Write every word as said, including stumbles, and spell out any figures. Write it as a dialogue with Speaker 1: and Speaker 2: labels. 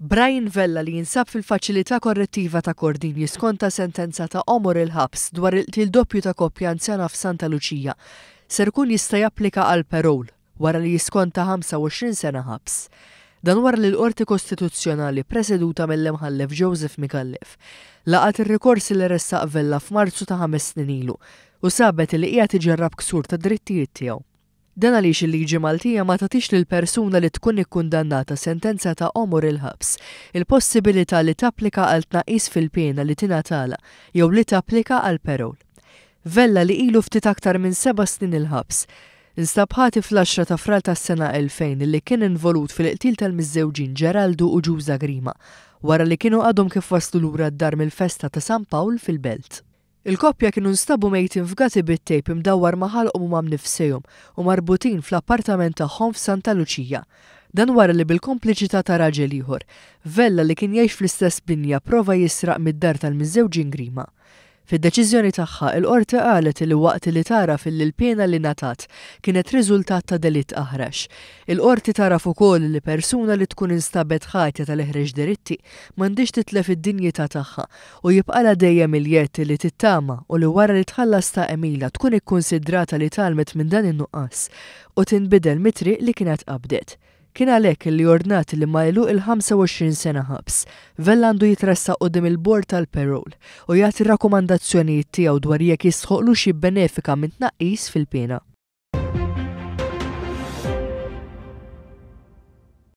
Speaker 1: Brian Vella li jinsab fil-Faċilità Korrettiva ta' Kordin jiskonta sentenza ta' għomor il-ħabs dwar il-qtil doppju ta' koppja anzjana f'Santa Luċija ser ikun jista' japplika għal parole wara li jiskonta ħamsa u għoxrin sena ħabs. Dan wara li l-Qorti Kostituzzjonali preseduta mill-Imħallef Joseph Micallef laqat ir-rikors li ressaq Vella f'Marzu ta' ħames snin ilu u sabet li qiegħed iġarrab ksur ta' drittijiet tiegħu. Dan għaliex il-liġi Maltija ma tagħtix lil persuna li tkun ikkundannata sentenza ta' għomor il-ħabs il-possibilità li tapplika għal tnaqqis fil-pena li tingħatala jew li tapplika għal parole. Vella li ilu ftit aktar minn seba' snin il-ħabs instab ħati fl-għaxra ta' Frar tas-sena elfejn li kien involut fil-qtil tal-miżżewġin Geraldu u Ġuża Grima wara li kienu għadhom kif waslu lura d-dar mill-festa ta' San Pawl fil-Belt. Il-koppja kienu nstabu mejtin f'gati bit-tejp imdawwar ma' ħalqhom u ma' mnifsejhom u marbutin fl-appartament tagħhom f'Santa Luċija. Dan wara li bil-kompliċità ta' raġel ieħor, Vella li kien jgħix fl-istess binja prova jisraq mid-dar tal-miżżewġin Grima. Fid-deċiżjoni tagħha, il-qorti qalet li waqt li tagħraf illi l-pena li ngħatat kienet riżultat ta' delitt aħrax. Il-qorti tagħraf ukoll li persuna li tkun instabet ħatja tal-eħreġ delitti m'għandhiex titlef id-dinjità tagħha u jibqalha dejjem il-jett li tittama u li wara li tħallas ta' Emila tkun ikkunsidrata li tgħallmet minn dan in-nuqqas u tinbidel mit-triq li kienet qabdet. Kien għalhekk li ordnat li ma għeluq il-ħamsa u għoxrin sena ħabs. Vella għandu jitressaq quddiem il-bord tal-parole u jagħti rakkomandazzjonijiet tiegħu dwar jekk jistħoqlux jibbenefika minn tnaqqis fil-pena.